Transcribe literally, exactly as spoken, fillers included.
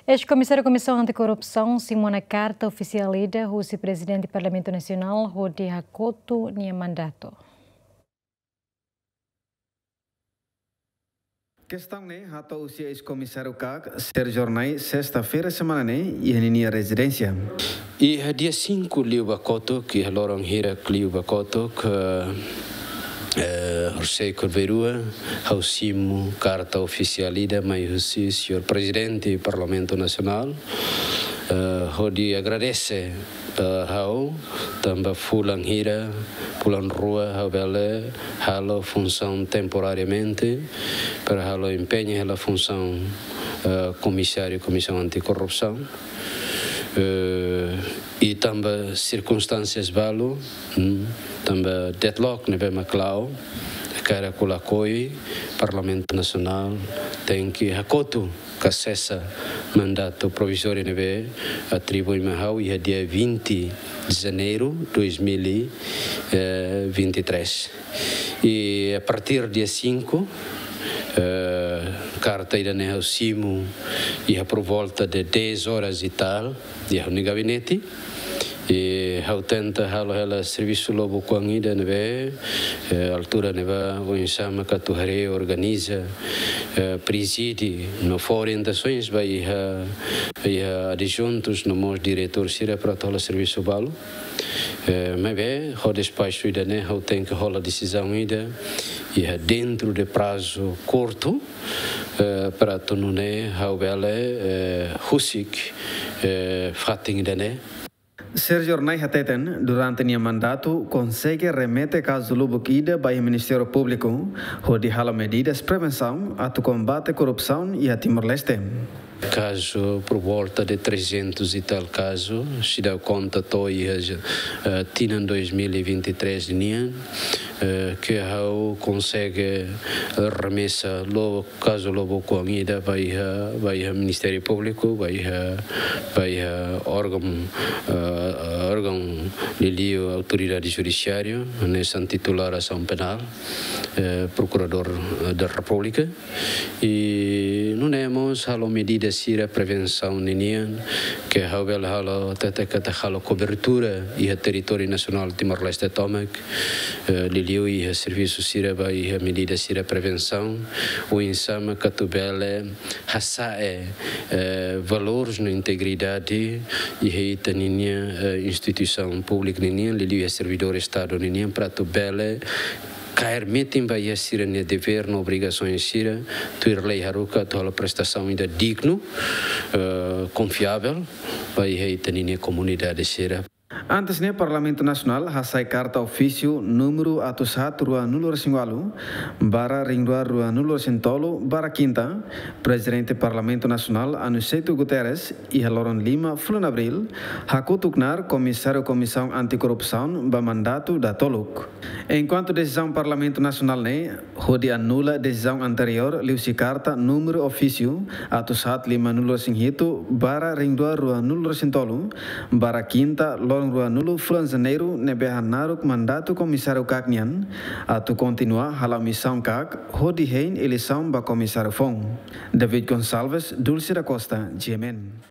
Eis-Komisáriu Komisaun Antikorrupsaun simu ona karta ofisiál ida husi Prezidente Parlamentu Nasionál hodi hakotu nia mandatu. Kestaun ne'e hato'o husi eis-komisáriu KAK, Sérgio Hornai, sesta-feira semana ne'e, iha ninia rezidénsia. Iha dia cinco liu ba kotuk, iha loron hirak liu ba kotuk, eh, eh, horisehik rua, ha'u simu karta ofisiál ida mai husi señór Prezidente Parlamentu Nasionál, eh, hodi agradese, eh, ha'u, tanba fulan hira, fulan rua, ha'u bele halo funsaun temporariamente, para ha'u empeña hela funsaun, eh, komisáriu Komisaun Antikorrupsaun. Eh, i tanba sirkunstánsias balu, hmm, tanba deadlock ne'ebé mak la'o, karik ha'u lakohi, Parlamentu Nasionál tenke hakotu ka sesa mandatu provizóriu ne'ebé atribui mai ha'u iha dia vinte de janeiro dois mil e vinte e três. I a partir dia cinco, eh, karta ida-ne'e ha'u simu iha por volta de dez horas e tal, iha ha'u-nia gabinete. I ha'u tenta halo hela servisu lubuk oan ida ne'ebé, eh, altura ne'ebá oinsá mak atu haree, organiza, eh, prezide, no fó orientasoens ba iha, iha adjuntus no mós diretór sira para atu halo servisu balu. Eh, maibé, ho despaxu ida-ne'e, ha'u tenke hola desizaun ida, iha dentro de prazu kurtu, eh, para atu nune'e ha'u bele, eh, husik, eh, fatin ida-ne'e. Sérgio Hornai hateten, durante nia mandatu, konsege remete kazu lubuk ida ba iha Ministériu Públiku, hodi halo medidas prevensaun atu kombate korrupsaun iha Timor-Leste. Kazu por volta de trezentos e tal kazu, se dá conta to'o iha, eh, tinan dois mil e vinte e três nian, eh, ke ha'u konsege remesa lo kazu lubuk oan ida ba iha, ba iha Ministériu Públiku, ba iha, ba iha órgaun, eh, órgaun liuliu autoridade judisiária, hanesan titulár asaun penál, eh, Prokuradór, eh, da Repúblika. I nune'e mós halo medida sira prevensaun ninian, ke ha'u bele halo, hatete katak halo kobertura iha territóriu nasionál Timor-Leste tomak, eh, liuliu iha servisu sira ba iha medida sira prevensaun, oinsá mak atu bele hasa'e, eh, valores no integridade iha ita-ninia, eh, instituisaun públika ninian, liuliu iha servidór Estadu ninian, para atu bele kaer metin ba iha sira-nia devér no obrigasaun sira, tuir lei haruka atu halo prestasaun ida dignu, eh, konfiavel, ba iha ita-ninia komunidade sira. Antes ne'e, Parlamentu Nasionál hasai karta ofísiu númeru atus haat ruanulu-resin-ualu barra rihun rua ruanulu-resin-tolu, barra kinta, Prezidente Parlamentu Nasionál Aniceto Guterres, iha loron lima fulan Abríl, hakutuk knaar Komisáriu Komisaun Antikorrupsaun ba mandatu datoluk. Enkuantu desizaun Parlamentu Nasionál ne'e hodi anula desizaun anteriór liuhusi karta númeru ofísiu atus haat limanulu-resin-hitu barra rihun rua ruanulu-resin-tolu, barra kinta loron ruanulu fulan Janeiru ne'ebé hanaruk mandatu Komisáriu KAK nian atu kontinua hala'o misaun KAK hodi hein eleisaun ba Komisáriu foun. David Gonçalves, Dulce da Costa, G M N.